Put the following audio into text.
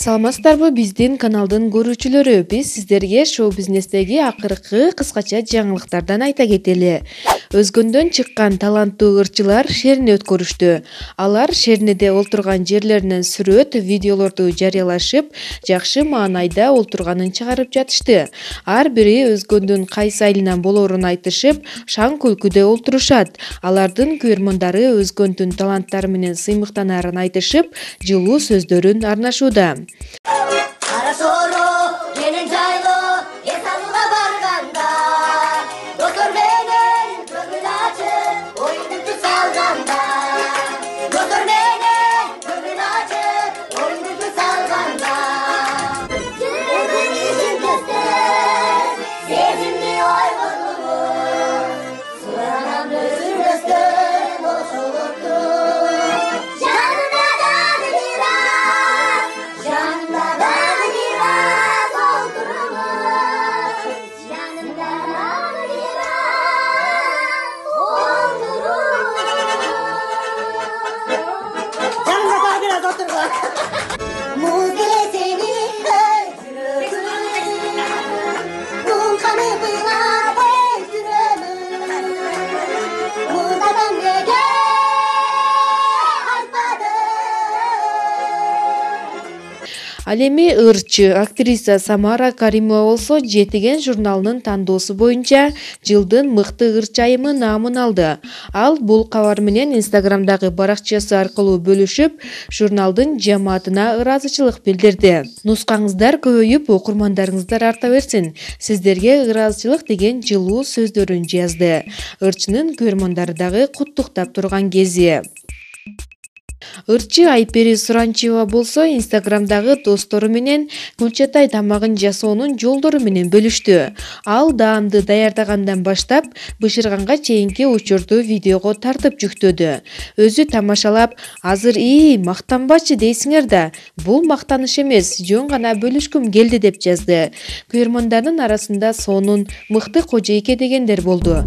Саламатсыздарбы биздин каналдын көрүүчүлөрү? Биз сиздерге шоу-бизнестеги акыркы кыскача жаңылыктардан айта кетели. Өзгөндөн чыккан таланттуу ырчылар шерине өткөрүштү. Алар шериниде олтурган жерлеринен сүрөт, видеолорду жарыялашып, жакшы маанайда олтурганын чыгарып жатышты. Ар бири өзгөндүн кайсы айылынан болоорун айтышып, шаң күлкүдө олтурушат. Алардын көрөрмандары өзгөндүн таланттары менен сыймыктанаарын айтышып, жылуу сөздөрүн арнашууда. Ал эми ырчы актриса Самара Каримова болсо Жетиген журналынын тандоосу боюнча жылдын мыкты ырчы айымы наамын алды. Ал бул кабар менен Инстаграмдагы баракчасы аркылуу бөлүшүп, журналдын жамаатына ыраазычылык билдирди. Нускаңыздар көбөйүп, окурмандарыңыздар арта берсин. Сиздерге ыраазычылык деген жылуу сөздөрүн жазды. Ырчынын көрөрмандары дагы куттуктап турган кези. Ырчы Айпери Суранчиева болсо Инстаграмдагы достору менен Кулчатай тамагын жасоонун жолдору менен бөлүштү. Ал даамды даярдагандан баштап бышырганга чейинки учурду видеого тартып жүктөдү. Өзү тамашалап, азыр мактанбачы дейсиңер да, бул мактаныш эмес, жөн гана бөлүшкүм келди деп жазды. Көрөрмандардын арасында сонун мыкты кожойке дегендер болду.